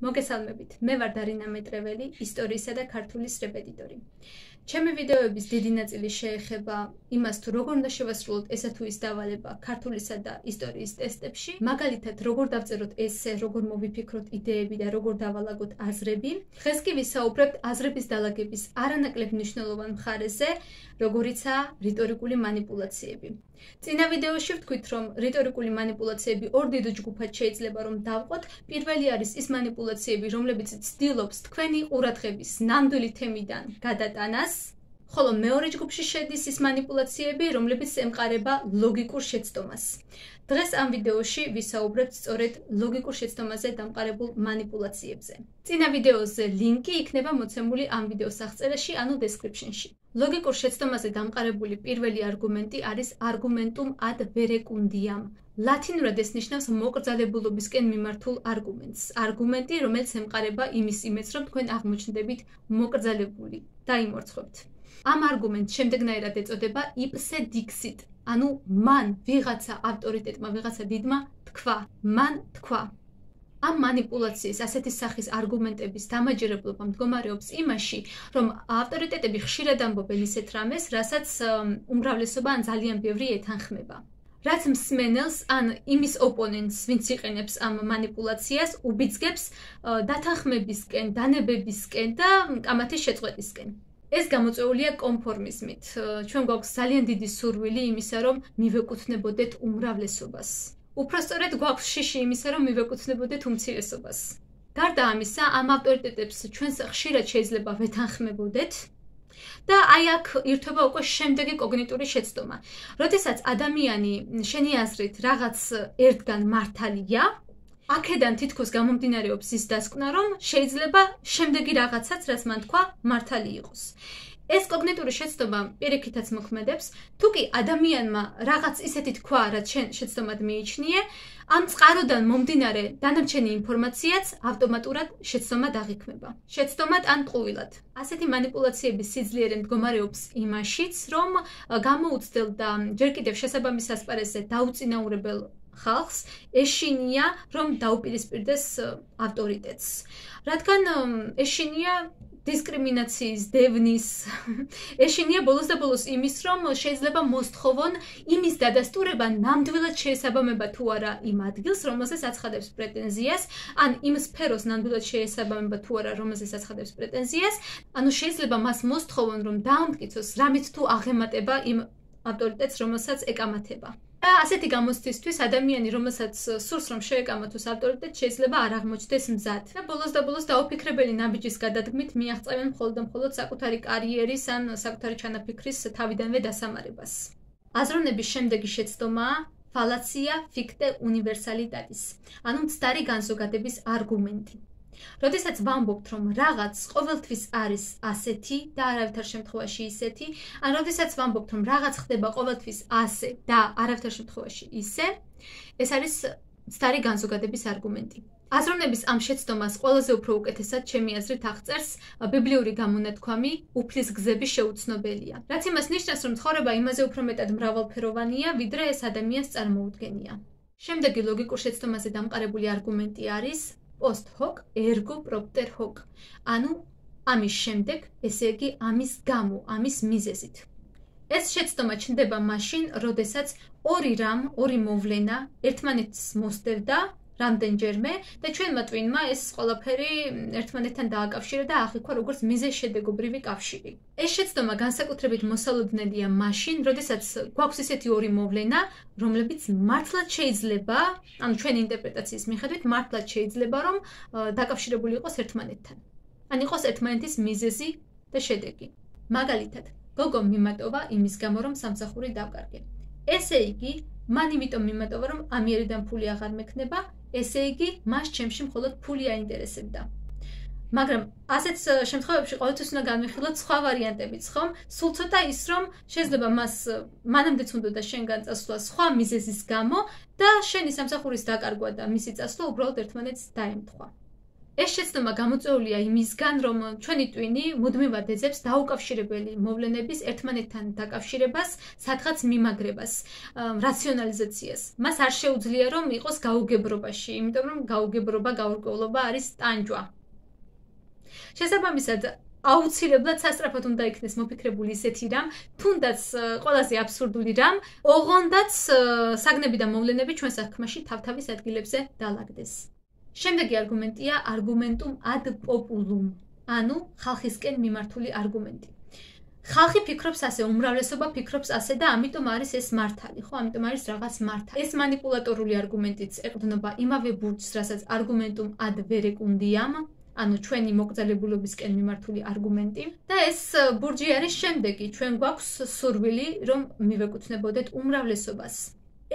მოგესალმებით, მე ვარ დარინა მეტრეველი, ისტორიისა და ქართულის რეპეტიტორი. ჩემი ვიდეოების დიდი ნაწილი შეეხება იმას, თუ როგორ უნდა შევასრულოთ ესა თუ ის დავალება ქართულისა და ისტორიის ტესტებში, მაგალითად, როგორ დავწეროთ ესე, როგორ მოვიფიქროთ იდეები და როგორ დავალაგოთ აზრები. დღეს კი ვისაუბრებთ აზრების დალაგების არანაკლებ მნიშვნელოვან მხარეზე, როგორიცაა რიტორიკული манипуляციები. წინა ვიდეოში ვთქვით, რომ რიტორიკული манипуляციები ორ დიდ ჯგუფად შეიძლება რომ დავყოთ. პირველი არის ის манипуляციები, რომლებიც ცდილობს თქვენი ყურადღების ნამდვილი თემიდან გადატანას, ხოლო მეორე ჯგუფში შედის ის манипуляციები, რომლებიც ემყარება ლოგიკურ შეცდომას. დღეს ამ ვიდეოში ვისაუბრებთ სწორედ ლოგიკურ შეცდომაზე დამყარებულ манипуляციებზე. წინა ვიდეოზე ლინკი იქნება მოცემული ამ ვიდეოს აღწერაში, ანუ description-ში. ლოგიკურ შეცდომაზე დამყარებული პირველი არგუმენტი არის argumentum ad verecundiam. ლათინურად ეს ნიშნავს მოკრძალებულობისკენ მიმართულ არგუმენტს. არგუმენტი, რომელიც ემყარება იმის იმედს, რომ თქვენ აღმოჩნდებით მოკრძალებული. დაიმორცხებთ. ამ არგუმენტს შემდეგნაირად ეწოდება ipse dixit. ანუ მან ვიღაცა ავტორიტეტმა, ვიღაცა დიდმა თქვა, მან თქვა. ამ манипуляციის ასეთი სახის არგუმენტების დამაჯერებლობა მდგომარეობს იმაში, რომ ავტორიტეტები ხშირად ამბობენ ისეთ რამეს, რასაც უმრავლესობა ან ძალიან ბევრი ეთანხმება. რაც მსმენელს ან იმის ოპონენტს, ვინც იყენებს ამ манипуляციას, უბიძგებს დათანხმებისკენ, დანებებისკენ და კამათის შეწყვეტისკენ. ეს გამოწვეულია კონფორმიზმით. ჩვენ გვაქვს ძალიან დიდი სურვილი იმისა, რომ მივეკუთვნებოდეთ უმრავლესობას. უფრო სწორედ გვაქვს შიში იმისა, რომ მივეკუთვნებოდეთ უმცირესობას. გარდა ამისა, ამ ავტორიტეტებს ჩვენს ხშირად შეიძლება ვეთანხმებოდეთ და აი აქ ირთვება უკვე შემდეგი კოგნიტური შეცდომა. როდესაც ადამიანი შენი აზრით რაღაც ერთგან მართალია, აქედან თითქოს გამომდინარეობს ის დასკვნა, რომ შეიძლება შემდეგი რაღაცაც, რაც მან თქვა, მართალი იყოს. ეს კოგნიტური შეცდომა პირიქითაც მოქმედებს, თუ კი ადამიანმა რაღაც ისეთი თქვა, რაც შენ შეცდომად მიიჩნიე, ამ წყაროდან მომდინარე დანარჩენი ინფორმაციაც ავტომატურად შეცდომად აღიქმება. შეცდომად ან ტყუილად. ასეთი манипуляციების სიძლიერე მდგომარეობს იმაშიც, რომ გამოუცდელდა ჯერ კიდევ შესაბამის ასპარეზზე დაუწინაურებელ ხალხს ეშინია, რომ დაუპირისპირდეს ავტორიტეტს. რადგან ეშინია დისკრიმინაციის, დევნის, ეშინია ბოლოს და ბოლოს იმის, რომ შეიძლება მოსთხოვონ იმის დადასტურება ნამდვილად შეესაბამება თუ არა იმ ადგილს, რომელზეც აცხადებს პრეტენზიას, ან იმ სფეროს ნამდვილად შეესაბამება თუ არა, რომელზეც აცხადებს პრეტენზიას, ანუ შეიძლება მას მოსთხოვონ, რომ დაამტკიცოს რამით თუ აღემატება იმ ავტორიტეტს, რომელსაც ეკამათება. და ასეთი გამოცდისთვის ადამიანი, რომელსაც სურს რომ შეეკამათოს ავტორიტეტს, შეიძლება არ აღმოჩნდეს მზად. და ბოლოს დაუფიქრებელი ნაბიჯის გადადგმით მიაღწევენ მხოლოდ და მხოლოდ საკუთარი კარიერის ან საკუთარი ჩანაფიქრის თავიდანვე დასამარებას. აზროვნების შემდეგი შეცდომაა fallacia ficte universalitatis, ანუ მცდარი განზოგადების არგუმენტი. როდესაც ვამბობთ, რომ რაღაც ყოველთვის არის ასეთი და არავითარ შემთხვევაში ისეთი, ან როდესაც ვამბობთ, რომ რაღაც ხდება ყოველთვის ასე და არავითარ შემთხვევაში ისე, ეს არის მცდარი განზოგადების არგუმენტი. აზროვნების ამ შეცდომას ყველაზე უფრო უკეთესად ჩემი აზრით აღწერს ბიბლიური გამონათქვამი უფლის გზები შეუცნობელია. რაც იმას ნიშნავს, რომ ცხოვრება იმაზე უფრო მეტად მრავალფეროვანია, ვიდრე ეს ადამიანს წარმოუდგენია. შემდეგი ლოგიკურ შეცდომაზე დამყარებული არგუმენტი არის post hoc ergo propter hoc, ანუ ამის შემდეგ, ესე იგი ამის გამო, ამის მიზეზით. ეს შეცდომა ჩნდება მაშინ, როდესაც ორი მოვლენა ერთმანეთს მოსდევდა რამდენჯერმე და ჩვენმა ტვინმა ეს ყველაფერი ერთმანეთთან დააკავშირა და აღიქვა როგორც მიზეზ-შედეგობრივი კავშირი. ეს შეცდომა განსაკუთრებით მოსალოდნელია მაშინ, როდესაც გვაქვს ისეთი ორი მოვლენა, რომლებიც მართლაც შეიძლება, ანუ ჩვენი ინტერპრეტაციის მიხედვით, მართლაც შეიძლება, რომ დაკავშირებული იყოს ერთმანეთთან. ან იყოს ერთმანეთის მიზეზი და შედეგი. მაგალითად, გოგო მიმატოვა იმის გამო, რომ სამსახური დავკარგე. ესე იგი, მან იმიტომ მიმატოვა, რომ ამიერიდან ფული აღარ მექნება, ესე იგი, მას ჩემში მხოლოდ ფული აინტერესებდა. მაგრამ ასეთ შემთხვევებში ყოველთვის უნდა განვიხილოთ სხვა ვარიანტებიც, ხომ? სულ ცოტა ის, რომ შეიძლება მას მანამდეც უნდოდა შენგან წასვლა სხვა მიზეზის გამო და შენი სამსახურის დაკარგვა და მისი წასვლა უბრალოდ ერთმანეთს დაემთხვა. ეს შეცდომა გამოწვეულია იმისგან, რომ ჩვენი ტვინი მუდმივად ეძებს დაუკავშირებელი მოვლენების ერთმანეთთან დაკავშირებას, სადღაც მიმაგრებას, რაციონალიზაციას. მას არ შეუძლია რომ იყოს გაუგებრობაში, იმიტომ რომ გაუგებრობა, გაურკვევლობა არის ტანჯვა. შესაბამისად, აუცილებლად სასწრაფოდ უნდა იქნეს მოფიქრებული ისეთი რამ, თუნდაც ყველაზე აბსურდული რამ, ოღონდაც საგნები და მოვლენები ჩვენ საქმეში თავთავის ადგილებზე დაალაგდეს. შემდეგი არგუმენტია argumentum ad populum, ანუ ხალხისკენ მიმართული არგუმენტი. ხალხი ფიქრობს ასე, უმრავლესობა ფიქრობს ასე და ამიტომ არის ეს მართალი, ხო? ამიტომ არის რაღაც მართალი. ეს манипуляტორული არგუმენტიც ეყრდნობა იმავე ბურჯს, რასაც argumentum ad verecundiam, ანუ ჩვენი მოკრძალებულობისკენ მიმართული არგუმენტი და ეს ბურჯი არის შემდეგი, ჩვენ გვაქვს სურვილი, რომ მივეკუთვნებოდეთ უმრავლესობას.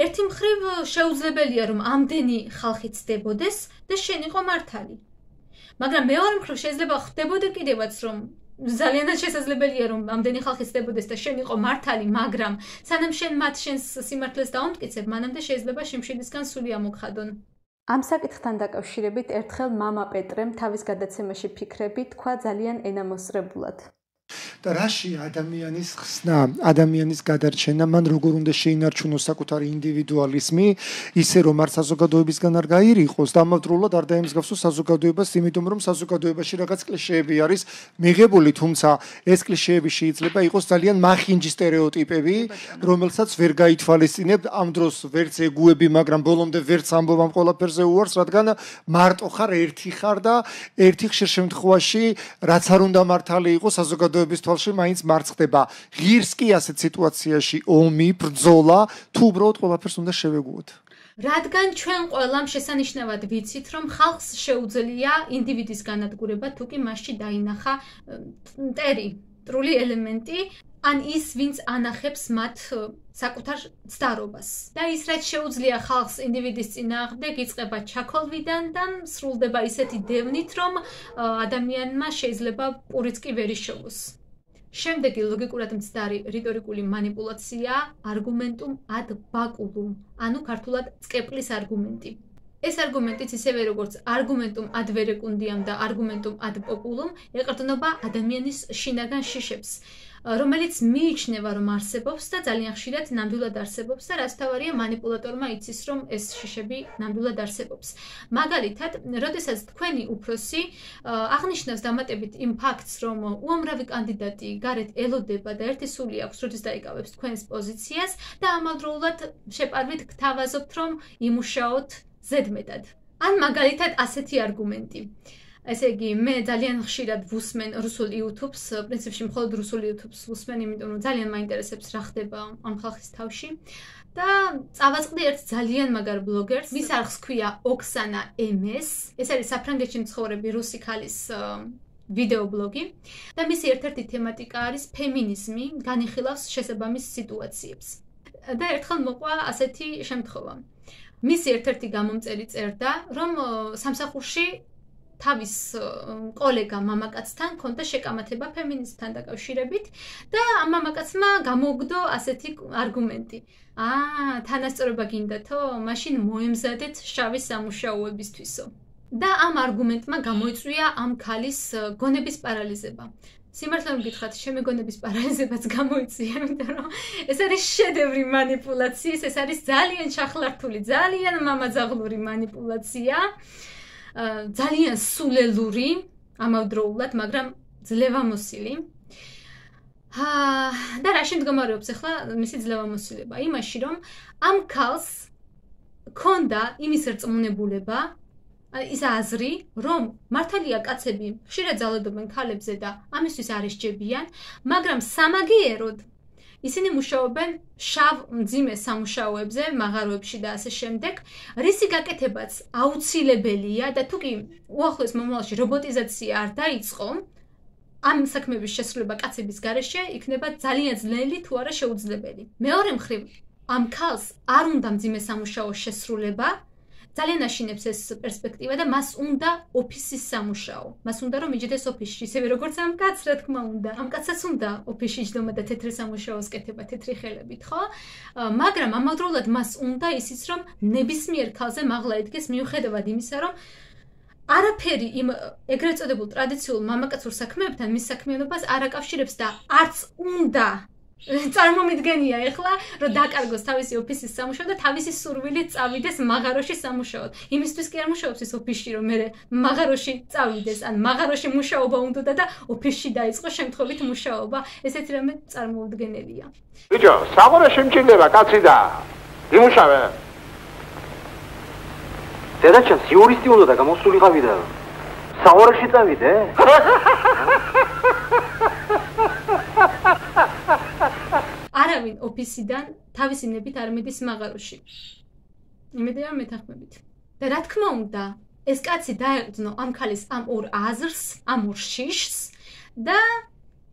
ერთი მხრივ შეუძლებელია რომ ამდენი ხალხი ცდებოდეს და შენ იყო მართალი. მაგრამ მეორე მხრივ შეიძლება ხდებოდე კიდევაც რომ ძალიანაც შესაძლებელია რომ ამდენი ხალხი ცდებოდეს და შენ იყო მართალი, მაგრამ სანამ შენ მათ შენს სიმართლეს დაუმტკიცებ, მანამდე შეიძლება შიმშილისგან სული ამოგხადონ. ამ საკითხთან დაკავშირებით ერთხელ მამა პეტრემ თავის გადაცემაში ფიქრები თქვა ძალიან ენამოსწრებულად. და რაში ადამიანის ხსნა, ადამიანის გადარჩენა, მან როგორ უნდა შეინარჩუნოს საკუთარი ინდივიდუალიზმი, ისე რომ არ საზოგადოებისგან არ გაირიყოს და ამავდროულად არ დაემსგავსოს საზოგადოებას, იმიტომ რომ საზოგადოებაში რაღაც კლიშეები არის მიღებული, თუმცა ეს კლიშეები შეიძლება იყოს ძალიან მახინჯი სტერეოტიპები, რომელსაც ვერ გაითვალისწინებთ ამ დროს ვერც ეგუები, მაგრამ ბოლომდე ვერც ამბობ ამ ყველაფერზე უარს, რადგან მარტო ხარ, ერთი ხარ და ერთი ხშირ შემთხვევაში რაც არ უნდა მართალი იყოს საზოგადოების თვალში მაინც მარცხდება. ღირს კი ასეთ სიტუაციაში ომი, ბრძოლა, თუ უბრალოდ ყველაფერს უნდა შევეგუოთ. რადგან ჩვენ ყველამ შესანიშნავად ვიცით, რომ ხალხს შეუძლია ინდივიდის განადგურება, თუ კი მასში დაინახა მტერი ელემენტი, ან ის, ვინც ანახებს მათ საკუთარ ცდარობას. და ის, რაც შეუძლია ხალხს ინდივიდის წინააღმდეგ, იწყება ჩაქოლვიდან და სრულდება ისეთი დევნით, რომ ადამიანმა შეიძლება პურიც კი ვერ იშოვოს. შემდეგი ლოგიკურად მცდარი რიტორიკული манипуляციაა argumentum ad baculum, ანუ ქართულად წყეპლის არგუმენტი. ეს არგუმენტიც ისევე როგორც argumentum ad verecundiam და argumentum ad populum ეყრდნობა ადამიანის შინაგან შიშებს, რომელიც მიიჩნევა რომ არსებობს და ძალიან ხშირად ნამდვილად არსებობს და რაც თავარია манипуляტორმა იცის რომ ეს შიშები ნამდვილად არსებობს. მაგალითად, როდესაც თქვენი უფროსი აღნიშნავს დამატებით იმ ფაქტს, რომ უამრავი კანდიდატი გარეთ ელოდება და ერთი სული აქვს, როდის დაიკავებს თქვენს პოზიციას და ამავდროულად შეპარვით გთავაზობთ, რომ იმუშაოთ ზედმეტად. ან მაგალითად ასეთი არგუმენტი. ესე იგი, მე ძალიან ხშირად ვუსმენ რუსულ YouTube-ს, პრინციპში მხოლოდ რუსულ YouTube-ს ვუსმენ, იმიტომ რომ ძალიან მაინტერესებს რა ხდება ამ ხალხის თავში. და წავაწყდი ერთ ძალიან მაგარ ბლოგერს, მის არხს ქვია ოქსანა MS. ეს არის საფრანგეთში მცხოვრები რუსი ქალის ვიდეო ბლოგი და მისი ერთ-ერთი თემატიკა არის ფემინიზმი, განიხილავს შესაბამის სიტუაციებს. და ერთხელ მოყვა ასეთი შემთხვევა. მისი ერთ-ერთი გამომწერი წერდა, რომ სამსახურში თავის კოლეგა მამაკაცთან ჰქონდა შეკამათება ფემინიზმთან დაკავშირებით და ამ მამაკაცმა გამოუგდო ასეთი არგუმენტი. თანასწორობა გინდათო? მაშინ მოემზადეთ შავი სამუშაოებისთვისო. და ამ არგუმენტმა გამოიწვია ამ ქალის გონების პარალიზება. სიმართლე მოგითხრათ, ჩემი გონების პარალიზებაც გამოიწვია, იმიტომ რომ ეს არის შედევრი манипуляციის, ეს არის ძალიან ჩახლართული, ძალიან მამაძაღლური манипуляცია. ძალიან სულელური, ამავდროულად, მაგრამ ძლევამოსილი. და რა შემდგომარეობს ახლა მისი ძლევამოსილება? იმაში, რომ ამ ქალს ჰქონდა იმის რწმუნებულება, ის აზრი, რომ მართალია კაცები ხშირად ძალადობენ ქალებზე და ამისთვის არ ესჯებიან, მაგრამ სამაგიეროდ ისინი მუშაობენ შავ მძიმე სამუშაოებზე, მაღაროებში და ასე შემდეგ, რისი გაკეთებაც აუცილებელია და თუ კი უახლოეს მომავალში რობოტიზაცია არ დაიწყო, ამ საქმეების შესრულება კაცების გარეშე იქნება ძალიან ძნელი თუ არა შეუძლებელი. მეორე მხრივ, ამ ქალს არ უნდა მძიმე სამუშაოს შესრულება, ძალიან აშინებს ეს პერსპექტივა და მას უნდა ოფისის სამუშაო. მას უნდა რომ იჯდეს ოფისში, ისევე როგორც ამ კაცს, რა თქმა უნდა. ამ კაცსაც უნდა ოფისში იჯდომა და თეთრი სამუშაოს კეთება, თეთრი ხელებით, ხო? მაგრამ ამავდროულად მას უნდა ისიც რომ ნებისმიერ ქალზე მაღლა ედგეს მიუხედავად იმისა, რომ არაფერი იმ ეგრეთ წოდებულ ტრადიციულ მამაკაცურ საქმეებთან მის საქმიანობას არ აკავშირებს და არც უნდა წარმომიდგენია ეხლა რომ დაკარგოს თავისი ოფისის სამუშაო და თავისი სურვილით წავიდეს მაღაროში სამუშაოდ. იმისთვის კი არ მუშაობს ის ოფისში რომ მე მაღაროში წავიდეს, ან მაღაროში მუშაობა უნდა და ოფისში დაიწყოს შემთხვევით მუშაობა. ესეთი რამე წარმოუდგენელია. ბიჭო, საყურე შემჭირდება კაცი და იმუშავე. დედაჩემს იურისტი უნდა და გამოსულიყავი და საყურეში წავიდე. არავინ ოფისიდან თავისი ნებით არ მიდის მაღაროში. იმედია მეთანხმებით. და რა თქმა უნდა, ეს კაცი დაეყრდნო ამ ქალის ამ ორ აზრს, ამ ორ შიშს და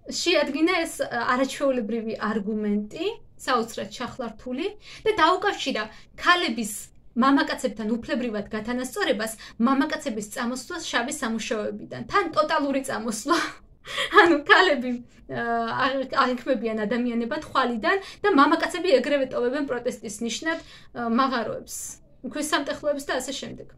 შეადგინა ეს არაჩვეულებრივი არგუმენტი, საოცრად ჩახლართული და დაუკავშირა ქალების მამაკაცებთან უფლებრივად გათანასწორებას მამაკაცების წამოსვლას შავი სამუშაოებიდან. თან ტოტალური წამოსვლა. ანუ ქალები აღიქმებიან ადამიანებად ხვალიდან და მამაკაცები ეგრევე ტოვებენ პროტესტის ნიშნად მაღაროებს, ქვის სამტეხლოებს და ასე შემდეგ.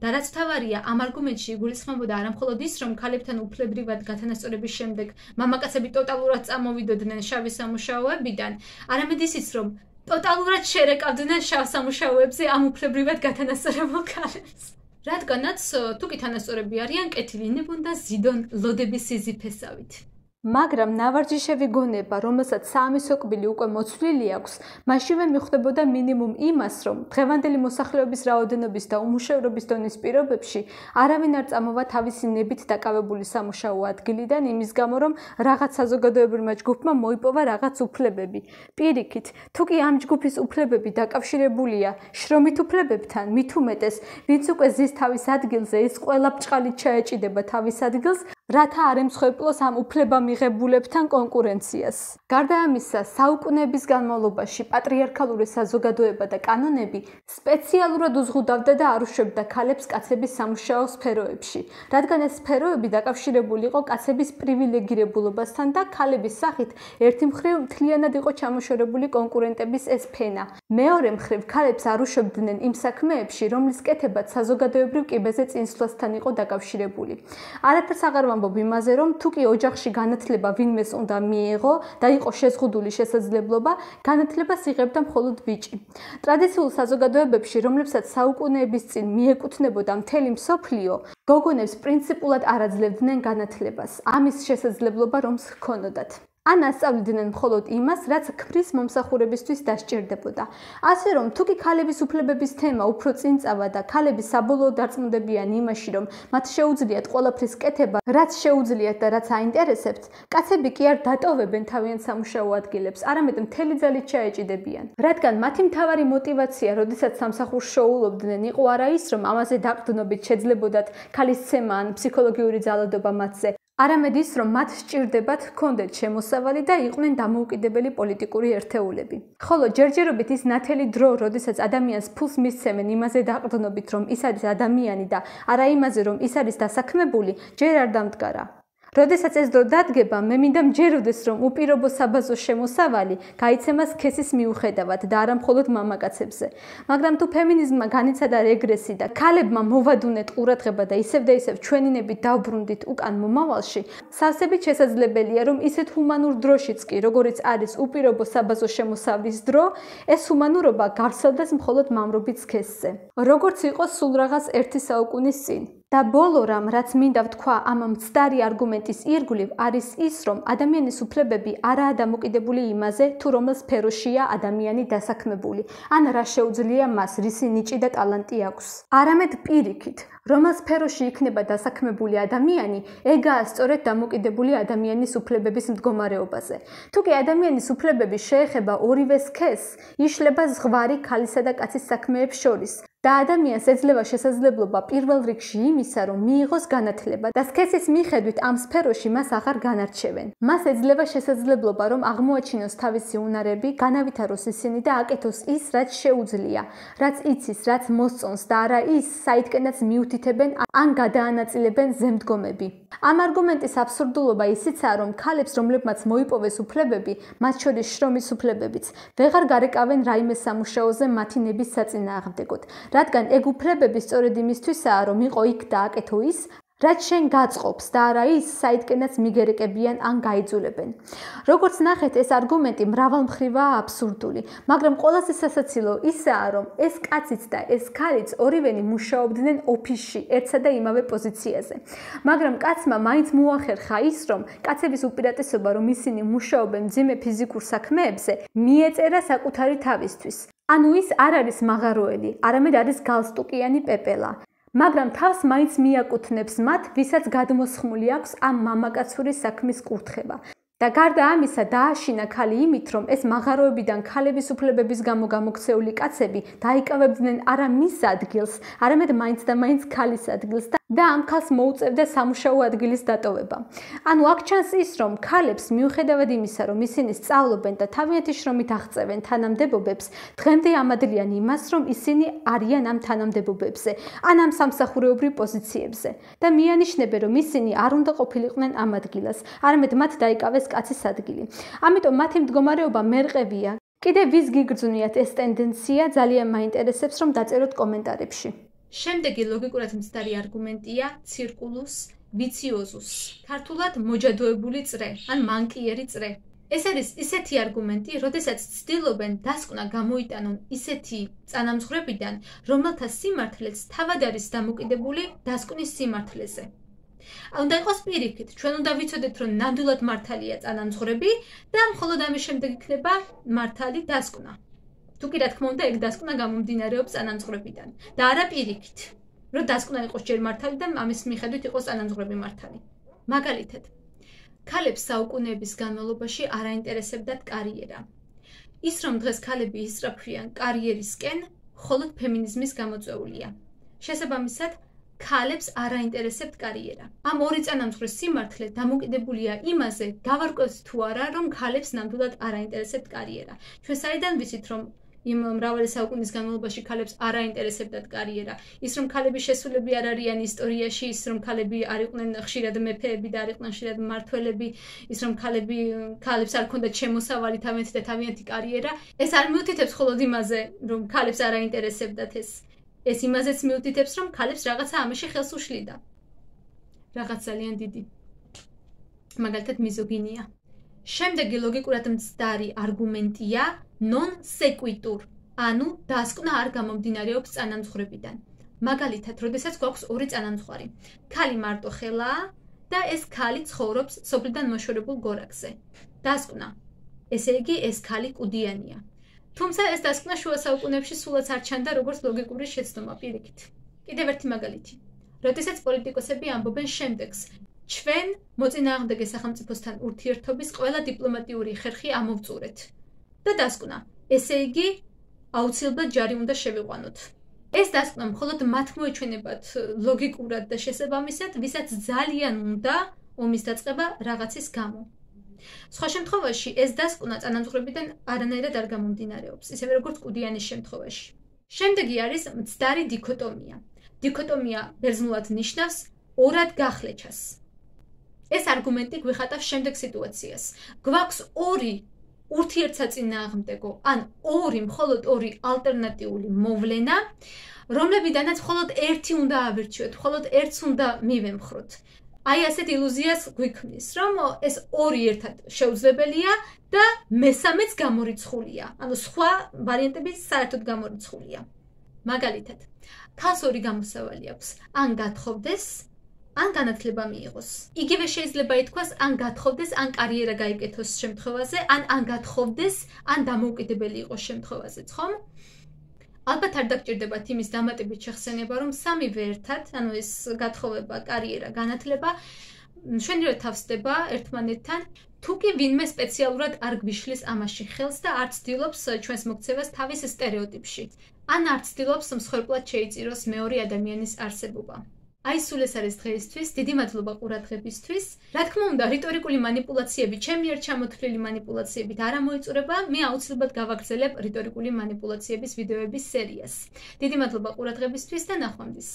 და რაც თავარია, ამ არგუმენტში იგულისხმებოდა არამხოლოდ ის, რომ ქალებთან უფლებრივად გათანასწორების შემდეგ მამაკაცები ტოტალურად წამოვიდოდნენ შავი სამუშაოებიდან, არამედ ისიც, რომ ტოტალურად შერეკავდნენ შავ სამუშაოებზე ამ უფლებრივად გათანასწორებულ ქალებს. რადგანაც თუ კი თანასწორები არიან, კეთილინებონ და ზიდონ ლოდების სიზიფესავით. მაგრამ ნავარჯიშევი გონება, რომელსაც საამისო კბილი უკვე მოცვლილი აქვს, მაშინვე მიხვდებოდა მინიმუმ იმას, რომ დღევანდელი მოსახლეობის რაოდენობის და უმუშევრობის დონის პირობებში არავინ არ წამოვა თავისი ნებით დაკავებული სამუშაო ადგილიდან იმის გამო, რომ რაღაც საზოგადოებრივმა ჯგუფმა მოიპოვა რაღაც უფლებები. პირიქით, თუ კი ამ ჯგუფის უფლებები დაკავშირებულია შრომით უფლებებთან, მით უმეტეს, ვინც უკვე ზის თავის ადგილზე, ის ყველა ბრჭყალით ჩაეჭიდება თავის ადგილს, რათა არ ემსხვერპლოს ამ უფლებამიღებულებთან კონკურენციას. გარდა ამისა, საუკუნეების განმავლობაში პატრიარქალური საზოგადოება და კანონები სპეციალურად უზღუდავდა და არ უშვებდა ქალებს კაცების სამუშაო სფეროებში, რადგან ეს სფეროები დაკავშირებული იყო კაცების პრივილეგირებულობასთან და ქალების სახით ერთი მხრივ მთლიანად იყო ჩამოშორებული კონკურენტების ეს ფენა. მეორე მხრივ ქალებს არ უშვებდნენ იმ საქმეებში, რომლის კეთებაც საზოგადოებრივ კიბეზე წინსვლასთან იყო დაკავშირებული. არაფერს აღარ ვამბობ იმაზე, რომ თუ კი ოჯახში განათლება ვინმეს უნდა მიეღო და იყო შეზღუდული შესაძლებლობა, განათლებას იღებდა მხოლოდ ბიჭი. ტრადიციულ საზოგადოებებში, რომლებსაც საუკუნეების წინ მიეკუთვნებოდა მთელი მსოფლიო, გოგონებს პრინციპულად არ აძლევდნენ განათლებას, ამის შესაძლებლობა რომს ჰქონოდათ. ან ასწავლიდნენ მხოლოდ იმას, რაც ქმრის მომსახურებისთვის დასჭირდებოდა. ასე რომ, თუ კი ქალების უფლებების თემა უფრო წინ წავა და ქალები საბოლოოდ დარწმუნდებიან იმაში, რომ მათ შეუძლიათ ყველაფრის კეთება, რაც შეუძლიათ და რაც აინტერესებთ, კაცები კი არ დატოვებენ თავიანთ სამუშაო ადგილებს, არამედ მთელი ძალით ჩაეჭიდებიან. რადგან მათი მთავარი мотиваცია, როდესაც სამსახურს შოულობდნენ, იყო არა ის, რომ ამაზე დაყრდნობით შეძლებოდათ ქალის ცემა ან ფსიქოლოგიური ძალადობა მათზე, არამედ ის, რომ მათ სჭირდებათ ჰქონდეთ შემოსავალი და იყვნენ დამოუკიდებელი პოლიტიკური ერთეულები. ხოლო ჯერჯერობით ის ნათელი დრო, როდესაც ადამიანს ფულს მისცემენ იმაზე დაყრდნობით, რომ ის არის ადამიანი და არა იმაზე, რომ ის არის დასაქმებული, ჯერ არ დამდგარა. როდესაც ეს დრო დადგება, მე მინდა მჯეროდეს, რომ უპირობო საბაზო შემოსავალი გაიცემა სქესის მიუხედავად და არა მხოლოდ მამაკაცებზე. მაგრამ თუ ფემინიზმმა განიცადა რეგრესი და ქალებმა მოვადუნეთ ყურადღება და ისევ ჩვენი ნებით დავბრუნდით უკან მომავალში, სავსებით შესაძლებელია, რომ ისეთ ჰუმანურ დროშიც კი, როგორიც არის უპირობო საბაზო შემოსავლის დრო, ეს ჰუმანურობა გავრცელდეს მხოლოდ მამრობით სქესზე. როგორც იყო სულ რაღაც ერთი საუკუნის წინ. და ბოლო რამ, რაც მინდა ვთქვა ამ მცდარი არგუმენტის ირგვლივ, არის ის, რომ ადამიანის უფლებები არაა დამოკიდებული იმაზე, თუ რომელ სფეროშია ადამიანი დასაქმებული, ან რა შეუძლია მას, რისი ნიჭი და ტალანტი აქვს. არამედ პირიქით, რომელ სფეროში იქნება დასაქმებული ადამიანი, ეგაა სწორედ დამოკიდებული ადამიანის უფლებების მდგომარეობაზე. თუ კი ადამიანის უფლებები შეეხება ორივე სქესს, იშლება ზღვარი ქალისა და კაცის საქმეებს შორის. და ადამიანს ეძლევა შესაძლებლობა პირველ რიგში იმისა, რომ მიიღოს განათლება და სქესის მიხედვით ამ სფეროში მას აღარ განარჩევენ. მას ეძლევა შესაძლებლობა, რომ აღმოაჩინოს თავისი უნარები, განავითაროს ისინი და აკეთოს ის, რაც შეუძლია, რაც იცის, რაც მოსწონს და არა ის, საიდკენაც მიუთითებს მიუთითებენ ან გადაანაწილებენ ზემდგომები. ამ არგუმენტის აბსურდულობა ისიცაა, რომ ქალებს, რომლებმაც მოიპოვეს უფლებები, მათ შორის შრომის უფლებებიც, ვეღარ გარეკავენ რაიმე სამუშაოზე მათი ნების საწინააღმდეგოდ, რადგან ეგ უფლებები სწორედ იმისთვისაა, რომ იყო იქ დააკეთო ის, რაც შენ გაწყობს და არა ის, საიდკენაც მიგერეკებიან ან გაიძულებენ. როგორც ნახეთ, ეს არგუმენტი მრავალმხრივაა აბსურდული, მაგრამ ყველაზე სასაცილო ისაა, რომ ეს კაციც და ეს ქალიც ორივენი მუშაობდნენ ოფისში, ერთსა და იმავე პოზიციაზე. მაგრამ კაცმა მაინც მოახერხა ის, რომ კაცების უპირატესობა, რომ ისინი მუშაობენ მძიმე ფიზიკურ საქმეებზე, მიეწერა საკუთარი თავისთვის. ანუ ის არ არის მაღაროელი, არამედ არის გალსტუკიანი პეპელა. მაგრამ თავს მაინც მიაკუთვნებს მათ, ვისაც გადმოსხმული აქვს ამ მამაკაცური საქმის კურთხება. და გარდა ამისა დააშინა ქალი იმით, რომ ეს მაღაროებიდან ქალების უფლებების გამო გამოქცეული კაცები დაიკავებდნენ არა მის ადგილს, არამედ მაინც და მაინც ქალის ადგილს და ამ ქალს მოუწევდა სამუშაო ადგილის დატოვება. ანუ აქ ჩანს ის, რომ ქალებს მიუხედავად იმისა, რომ ისინი სწავლობენ და თავიანთი შრომით აღწევენ თანამდებობებს, დღემდე ამადლიან იმას, რომ ისინი არიან ამ თანამდებობებზე, ან ამ სამსახურეობრივ პოზიციებზე და მიანიშნებენ, რომ ისინი არ უნდა ყოფილიყვნენ ამ ადგილას, არამედ მათ დაიკავეს კაცის ადგილი. ამიტომ მათი მდგომარეობა მერყევია. კიდევ ვის გიგრძნიათ ეს ტენდენცია, ძალიან მაინტერესებს, რომ დაწეროთ კომენტარებში. შემდეგი ლოგიკურად მცდარი არგუმენტია ცირკულუს ვიციოზუს. ქართულად მოჯადოებული წრე ან მანკიერი წრე. ეს არის ისეთი არგუმენტი, როდესაც ცდილობენ დასკვნა გამოიტანონ ისეთი წანამძღვრებიდან, რომელთა სიმართლეც თავად არის დამოკიდებული დასკვნის სიმართლეზე. უნდა იყოს პირიქით, ჩვენ უნდა ვიცოდეთ, რომ ნამდვილად მართალია წანამძღვრები და მხოლოდ ამის შემდეგ იქნება მართალი დასკვნა. თუ კი რა თქმა უნდა, ეგ დასკვნა გამომდინარეობს წანამძღვრებიდან და არა პირიქით, რომ დასკვნა იყოს ჯერ მართალი და ამის მიხედვით იყოს წანამძღვრები მართალი. მაგალითად, ქალებს საუკუნეების განმავლობაში არ აინტერესებდათ კარიერა. ის, რომ დღეს ქალები ისწრაფვიან კარიერისკენ, მხოლოდ ფემინიზმის გამოწვეულია. შესაბამისად, ქალებს არ აინტერესებთ კარიერა. ამ ორი წანამძღვრის სიმართლე დამოკიდებულია იმაზე, გავარკვევთ თუ არა, რომ ქალებს ნამდვილად არ აინტერესებთ კარიერა. ჩვენ საიდან ვიცით, რომ იმ მრავალი საუკუნის განმავლობაში ქალებს არ აინტერესებდათ კარიერა? ის, რომ ქალები შესულები არ არიან ისტორიაში, ის, რომ ქალები არ იყვნენ ხშირად მეფეები და არ იყვნენ ხშირად მმართველები, ის, რომ ქალებს არ ჰქონდათ შემოსავალი თავიანთი და თავიანთი კარიერა, ეს არ მიუთითებს მხოლოდ იმაზე, რომ ქალებს არ აინტერესებდათ ეს. ეს იმაზეც მიუთითებს, რომ ქალებს რაღაცა ამაში ხელს უშლიდა. რაღაც ძალიან დიდი. მაგალითად მიზოგინია. შემდეგი ლოგიკურად მცდარი არგუმენტია non sequitur, ანუ დასკვნა არ გამომდინარეობს წანამძღვრებიდან. მაგალითად, როდესაც გვაქვს ორი წანამძღვარი. ქალი მარტო ხელაა და ეს ქალი ცხოვრობს სოფლიდან მოშორებულ გორაკზე. დასკვნა. ესე იგი, ეს ქალი კუდიანია. თუმცა ეს დასკვნა შუა საუკუნეებში სულაც არ ჩანდა როგორც ლოგიკური შეცდომა პირიქით. კიდევ ერთი მაგალითი. როდესაც პოლიტიკოსები ამბობენ შემდეგს, ჩვენ მოწინააღმდეგე სახელმწიფოსთან ურთიერთობის ყველა დიპლომატიური ხერხი ამოვწურეთ. და დასკვნა, ესე იგი, აუცილებლად ჯარი უნდა შევიყვანოთ. ეს დასკვნა მხოლოდ მათ მოეჩვენებათ ლოგიკურად და შესაბამისად, ვისაც ძალიან უნდა ომის დაწყება რაღაცის გამო. სხვა შემთხვევაში ეს დასკვნა წანამძღვრებიდან არანაირად არ გამომდინარეობს, ისევე როგორც კუდიანის შემთხვევაში. შემდეგი არის მცდარი დიქოტომია. დიქოტომია ბერძნულად ნიშნავს ორად გახლეჩას. ეს არგუმენტი გვიხატავს შემდეგ სიტუაციას. გვაქვს ორი ურთიერთსაწინააღმდეგო, ან მხოლოდ ორი ალტერნატიული მოვლენა, რომლებიდანაც მხოლოდ ერთი უნდა ავირჩიოთ, მხოლოდ ერთს უნდა მივემხროთ. აი ასეთ ილუზიას გვიქმნის, რომ ეს ორი ერთად შეუძლებელია და მესამეც გამორიცხულია. ანუ სხვა ვარიანტები საერთოდ გამორიცხულია. მაგალითად, ქალს ორი გამოსავალი აქვს: ან გათხოვდეს, ან განათლება მიიღოს. იგივე შეიძლება ითქვას, ან გათხოვდეს, ან კარიერა გაიკეთოს შემთხვევაზე, ან გათხოვდეს, ან დამოუკიდებელი იყოს შემთხვევაზეც, ხომ? ალბათ არ დაგჭირდებათ იმის დამატებით შეხსენება, რომ სამივე ერთად, ანუ ეს გათხოვება, კარიერა, განათლება, მშვენივრად თავსდება ერთმანეთთან, თუ კი ვინმე სპეციალურად არ გვიშლის ამაში ხელს და არ ცდილობს ჩვენს მოქცევას თავის სტერეოტიპში, ან არ ცდილობს მსხვერპლად შეიწიროს მეორე ადამიანის არსებობა. აი სულ ეს არის დღეისთვის, დიდი მადლობა ყურადღებისთვის. რა თქმა უნდა, რიტორიკული манипуляციები, ჩემი მიერ ჩამოთვლილი манипуляციებით არ ამოიწურება, მე აუცილებლად გავაგრძელებ რიტორიკული манипуляციების ვიდეოების სერიას. დიდი მადლობა ყურადღებისთვის და ნახვამდის.